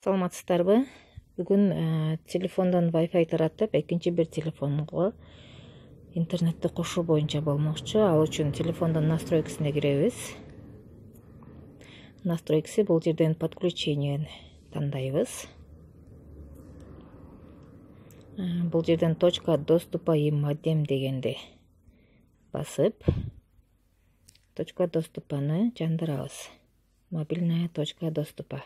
Саламатсыздарбы? Бүгүн телефондон Wi-Fi тараттып, экинчи бир телефонго интернетти кошуу боюнча болмокчу. Ал үчүн телефондун настройкасына киребиз. Настройкасы бул жерден подключение тандайбыз. Бул жерден точка доступа и модем дегенди басып, точка доступаны жандырабыз. Мобильная точка доступа.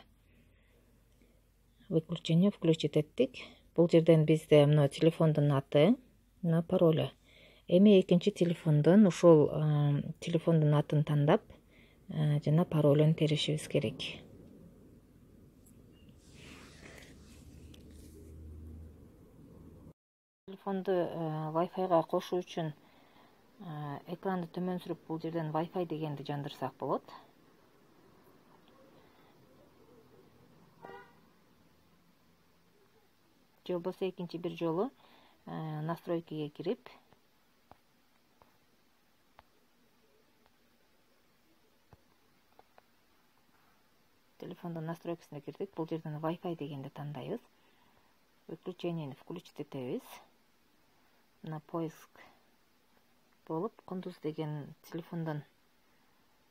Выключение включить эттик. Бул жерден бизде мына телефондун аты, мына паролу. Эми экинчи телефондон ушул телефондун атын тандап, жана паролун теришибиз керек. Телефонду Wi-Fi'га кошуу үчүн экранды төмөн сүрүп бул жерден Wi-Fi дегенди жандырсак болот. Же болбосо экинчи бир жолу настройкага кирип, телефондун настройкасына кирдик. Бул жерден Wi-Fi дегенди тандайбыз. Выключениени включить этебиз. Мына поиск болуп, Кундуз деген телефондон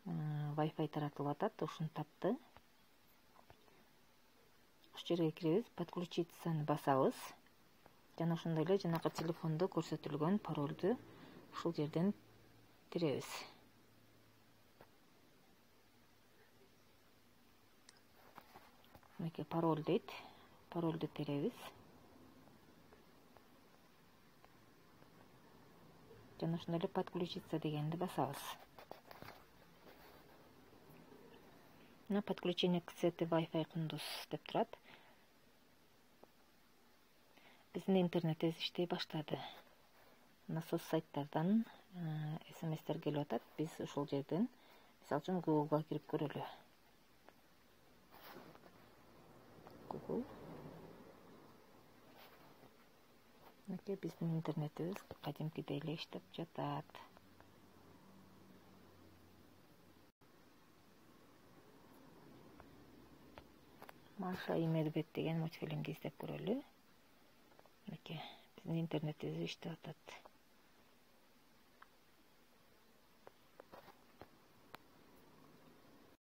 Wi-Fi таратылып атат. Ушуну тапты. Ушул жерге киребиз, подключиться басабыз. Жана ошондой эле жанакы телефондо көрсөтүлгөн паролду ушул жерден теребиз. Мынакей пароль дейт. Паролду теребиз. Жана ошондой эле подключиться дегенди басабыз. Мына подключение к сети Wi-Fi Кундуз деп турат. Биздин интернетибиз иштей баштады. Мына соц сайттардан смстер келип атат. Биз ушул жерден, мисалы үчүн, Google'га кирип көрөлү. Google. Мынакей биздин интернетибиз кадимкидей эле иштеп жатат. Маша и Медведь деген мультфильмди издеп көрөлү. Мынакей биздин интернетибиз иштеп атат.